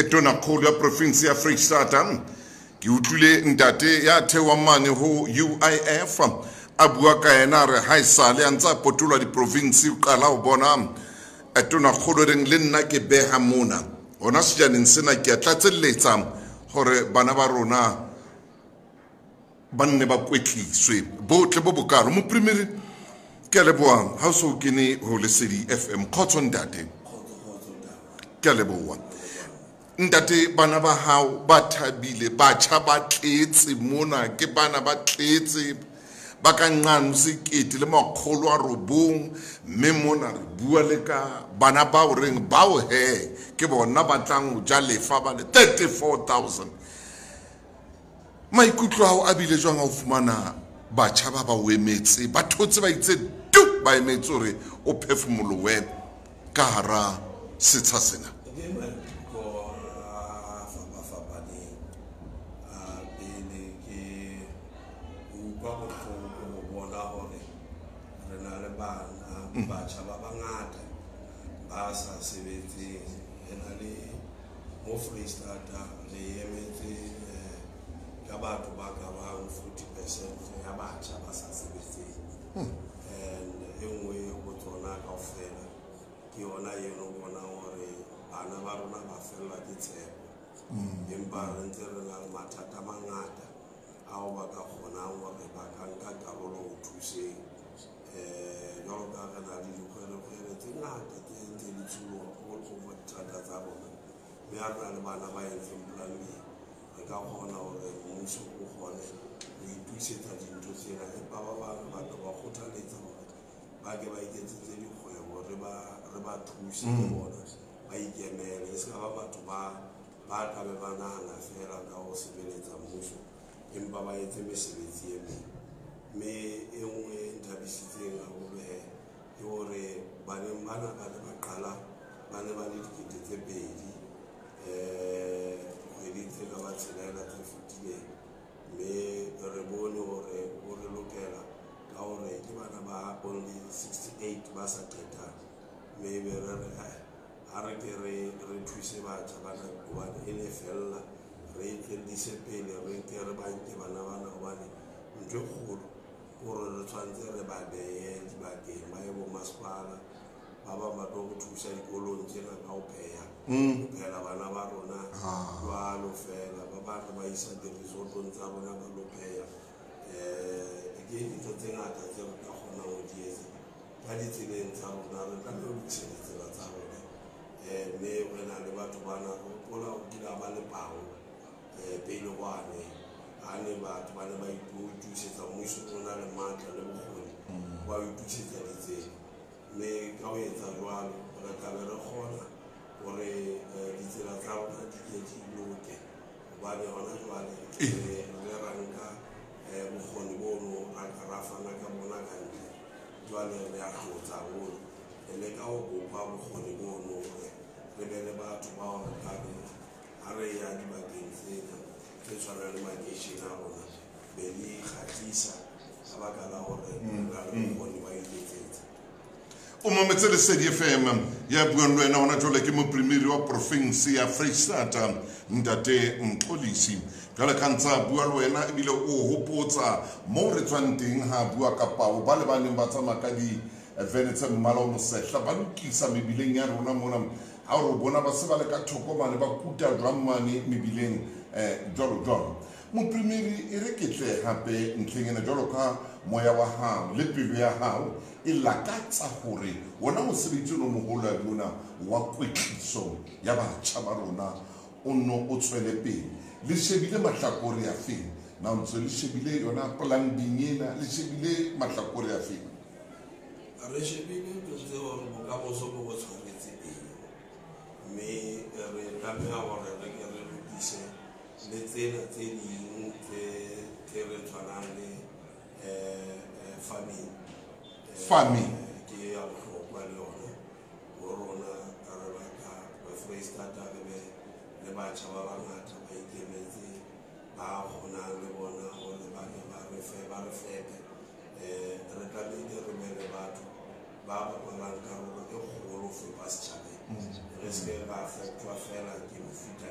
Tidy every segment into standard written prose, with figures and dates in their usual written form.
Tonakgolo ya province ya Freistata. Ke utlwile ntate ya theohang mane ho UIF a bua ka yena, a re ha esale a ntse a potolwa diprovince, o qala ho bona tonakgolo reng le nna ke beha mona hona sejaneng sena, ke a tlatselletsa hore bana ba rona ba nne ba kwetliswe botle bo bokalo. Moprimiri, ke a leboha ha o so kene ho Lesedi FM. Kgotso ntate. Ke a leboha ntate. Bana ba hao ba thabile, batjha ba tletse mona, ke bana ba tletse ba ka nqano 1900, mme mona re bua le ka bana bao reng bao he ke bona ba tlang ho ja lefa ba le 34 000. Maikutlo ao a bile jwang ha o fumana batjha ba ba o emetse, ba thotse, ba itse tu, ba emetse hore o phefumolohe ka hara setsha sena? Ke maikutlo a fapafapaneng. A pele ke utlwa bohloko ho bona hore re na le bana, batjha ba bangata ba sa sebetseng. Re na le mo Freistata re emetse ka batho ba ka bang 40% ya batjha ba sa sebetseng, and e nngwe ho tsona kaofela ke yona eno bonang hore bana ba rona ba fellwa ke tshepo, empa re ntse re na le mathata a mangata ao ba ka kgonang hore ba ka nka karolo ho thuseng, jwalo ka re na le dikgwerekgwere tse ngata tse ntse di tsholoha all over dithata tsa rona, mme ha re na le bana ba entseng plumbing, re ka kgona hore mmuso o kgone ho itukisetsa dintho tsena. Empa ba bang re batla ba kgothaletsa hore ba ke ba iketsetse dikgwebo, re ba thuse le bona ba ikemele, e se ka ba batho ba tlabe ba nahana fela ka ho sebeletsa mmuso, empa ba etse mesebetsi e meng. Mme e nngwe e nthabisitseng haholo he ke hore baneng bana ba ne ba qala ba ne ba le 2000 kgweding tse ka ba tshelela tse fetileng, mme re bone hore o re lokela ka hore ke bana ba only 68 ba sa qetang, mme ebe re re ha re ke re thuse batjha bana, hobane e ne fella re e tswellise pele, re ke re ba nke bana bana, hobane ntho e kgolo ke hore re tshwanetse re ba behe dibakeng, ba ye bo masepala, ba bang ba tlo re thusa dikolong tsena ka ho pheha, ho phehela bana ba rona jwalo fela, ba bang re ba isa di-resortong tsa rona ba lo pheha. Ke dintho tse ngata tse re ka kgonang ho di etsa ka ditseleng tsa rona. Re tlameha ho lokisa ditsela tsa rona, mme re na le batho bana. Re hopola ho kile ba le pao pele kwane, ha ne batho ba ne ba itukisetsa, mmuso o na le matla le bokgoni ba ho itukisetsa ditsela, mme ka ho etsa jwalo re tlabe re kgona hore ditsela tsa rona di ke di loke, hobane hona jwale re ile ra nka bokgoni bono, ra ka ra fana ka bona ka ntle. Jwale re a hlotsa haholo, re leka ho bopa bokgoni bono hore re be le batho bao re ka reng ha re ya dibakeng tsena tse tshwanang le makeishene a rona, be di kgahlisa ka baka la hore re na le bokgoni ba iketsetsa. O mametse Lesedi FM. Ya buang le wena hona jwale ke moprimiri wa province ya Freistata, ntate Mxolisi. Jwale ka ntse a bua le wena ebile o hopotsa moo re tswang teng, ha a bua ka pao ba le ba neng ba tsamaya ka divene tse mmala o mosehla ba lokisa mebileng ya rona mona, ha o re bona ba se ba le ka thoko mane ba kuta jwang mane mebileng, jwalo jwalo. Moprimiri, e re ke tle hape ntlheng ena, jwalo ka moya wa hao le pelo ya hao e lakatsa hore wona mosebetsi ono moholo ya ona wa kwetliso ya batjha ba rona o nno o tswele pele, le shebile mahlakore a feng? Na o ntse le shebile yona plumbing ena, le shebile mahlakore a feng? Re shebile ntho tse hore bokamoso bo bo tshwaretse eng, mme re tlameha hore re ke re lokise le tsena tse ding tse re tshwanang le farming. Farming. Ke ya bohlokwa le yona ho rona. Re batla Freistata re be le batjha ba bangata ba ikemetseng, ba kgonang le bona hore ba ne ba re fe, ba re fepe. Re tlamehile re be le batho ba bapalang karolo e kgolo ho fepa setjhabeng, re se ke ra feptjwa fela ke mefuta.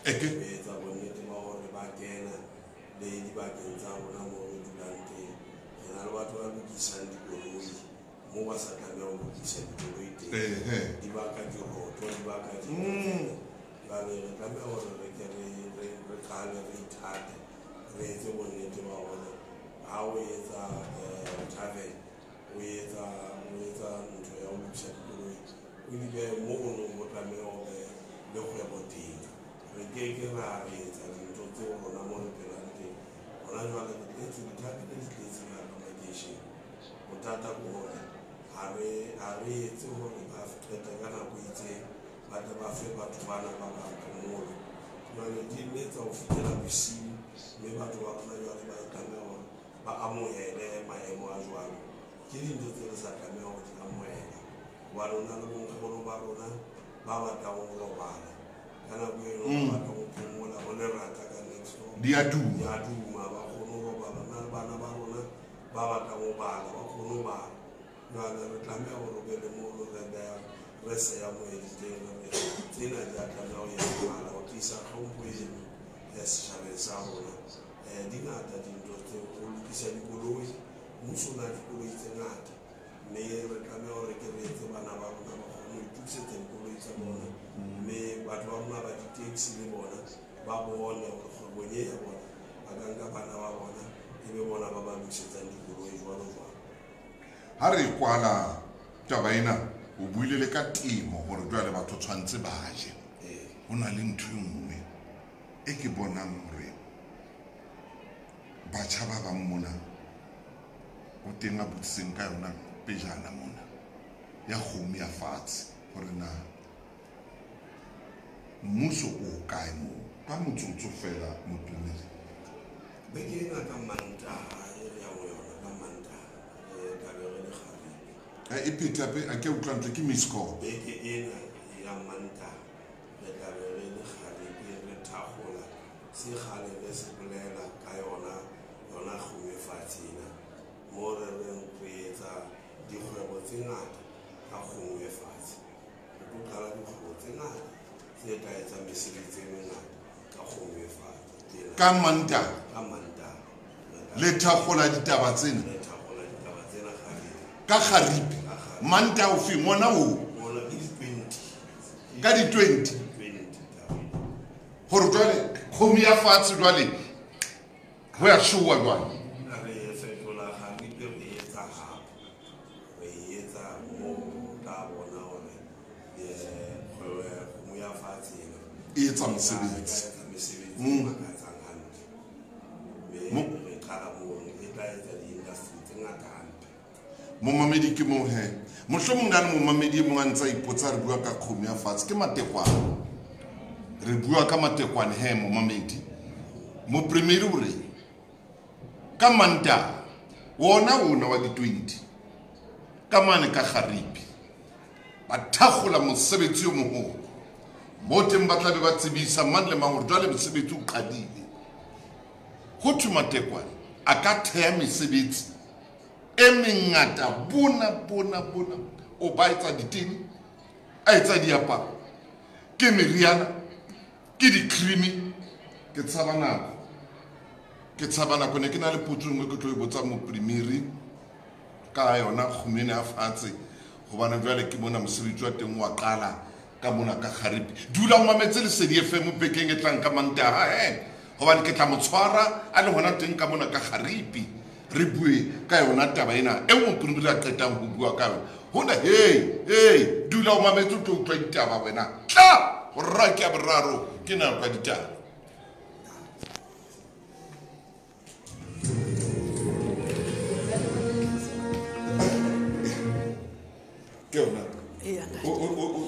Re etsa bonnete ba hore ba kena le dibakeng tsa rona moo re dulang teng. Re na le batho ba lokisang dikoloi moo ba sa tlameha ho lokisa dikoloi teng. Di baka diroto, di baka jwale re tlameha hore re ke re qale re ithate, re etse bonnete ba hore ha o etsa travel, o etsa ntho ya ho lokisa dikoloi, o di behe mono mo tlameha ho be le kgwebo teng. Re keke ra re etsa dintho tseo rona mo re phelang teng. Hona jwale re tletse dithabele, di tletse ka hara makeishene. Bothata ke hore ha re etse hore ba qete ka nako e itseng, ba tle ba fe batho bana ba bang phomolo. Jwale di letsa ho fihlela bosiu, mme batho ba rona jwale ba tlameha hore ba amohele maemo a jwalo. Ke dintho tse re sa tlameha ho di amohela, hobane ho na le bonkgono ba rona ba batlang ho robala ka nako eno, ba batlang ho phomola, ho lerata ka next door. Di a duma. Di a duma, ba kgone ho robala. Ho na le bana ba rona ba batlang ho bala, ba kgone ho bala. Jwale re tlameha hore o be le mono re behang, re seya moedi teng, re re tsena di a tlameha ho etsahala ho tiisa tlhompho eno setjhabeng sa rona. Di ngata dintho tseo, ho lokisa dikoloi, mmuso o na le dikoloi tse ngata, mme re tlameha hore ke re etse bana ba rona ba kgone ho itokisetsa dikoloi tsa bona, mme batho ba rona ba di-taxi le bona ba bone hore kgwebong e ya bona ba ka nka bana ba bona e be bona ba ba lokisetsang dikoloi jwalo jwalo. Ha re kwala taba ena, o buile le ka temo hore jwale batho tshwantse ba je. Ho na le ntho e nngwe e ke bonang hore batjha ba bang mona o teng a botsitseng ka yona pejana mona ya kgomo ya fatshe, hore na mmuso o kae moo. Ka motsotso fela, Motumedi. Beke ena ka Mantaha e re yang ho yona, ka Mantaha re tla be re le Kgaribe. E phethe hape, a ke utlwa ntle ke miss call. Beke ena ya Mantaha re tla be re le Kgaribe, re thakgola se kgale re se bolela ka yona, yona kgomo e fatshe ena, mo re reng re etsa dikgwebo tse ngata ka kgomo e fatshe. Re tlo qala dikgwebo tse ngata tse tla etsa mesebetsi e mengata ka kgomo e fatshe. Ka Mantaha. Ka Mantaha. Le thakgola ditaba tsena. Le thakgola ditaba tsena Kgaribe. Ka Kgaribe. Ka Kgaribe. Mantaha ofe? Ngwana o? Ngwana ke di-20. Ka di-20? 20. Hore jwale kgomo ya fatshe jwale ho ya showa jwale. Re fetola Kgaribe, re etsa hape. Re etsa moo o tla bona hore, kgwebo ya kgomo ya fatshe ena E etsa mosebetsi. E etsa mesebetsi e makatsang hantle. Mme re qala mono, e tla etsa di-industry tse ngata hampe. Momamedi ke moo he. Mohlomong na le momamedi e mong a ntse a ipotsa re bua ka kgomo ya fatshe, ke matekwane. Re bua ka matekwane he, momamedi. Mopremedi o re ka Mantaha wona wa di-20 ka mane ka Kgaribe ba thakgola mosebetsi o moholo. Mo teng ba tla be ba tsebisa mang le mang hore jwale mosebetsi o qadile. Ho thwe matekwane a ka theha mesebetsi e mengata, bona, bona, bona. O ba etsa ditene, a etsa diaparo, ke meriana, ke di-cream. Ke tshaba nako. Ke tshaba nako. Ne ke na le potso e nngwe ke tlo e botsa moprimiri ka yona kgomo ena ya fatshe, hobane jwale ke mona mosebetsi wa teng wa qala ka mona ka Kgaribe. Dula o mametse Lesedi FM bekeng e tlang ka Mantaha he, hobane ke tla mo tshwara a le hona teng ka mona ka Kgaribe, re bue ka yona taba ena e moprimiri a qetang ho bua ka yona. Hona hey, hey, dula o mametse o tlo utlwa ditaba wena. Tla, hora ke ya boraro, ke nako ya ditaba. Ke yona. Eya, ntate. O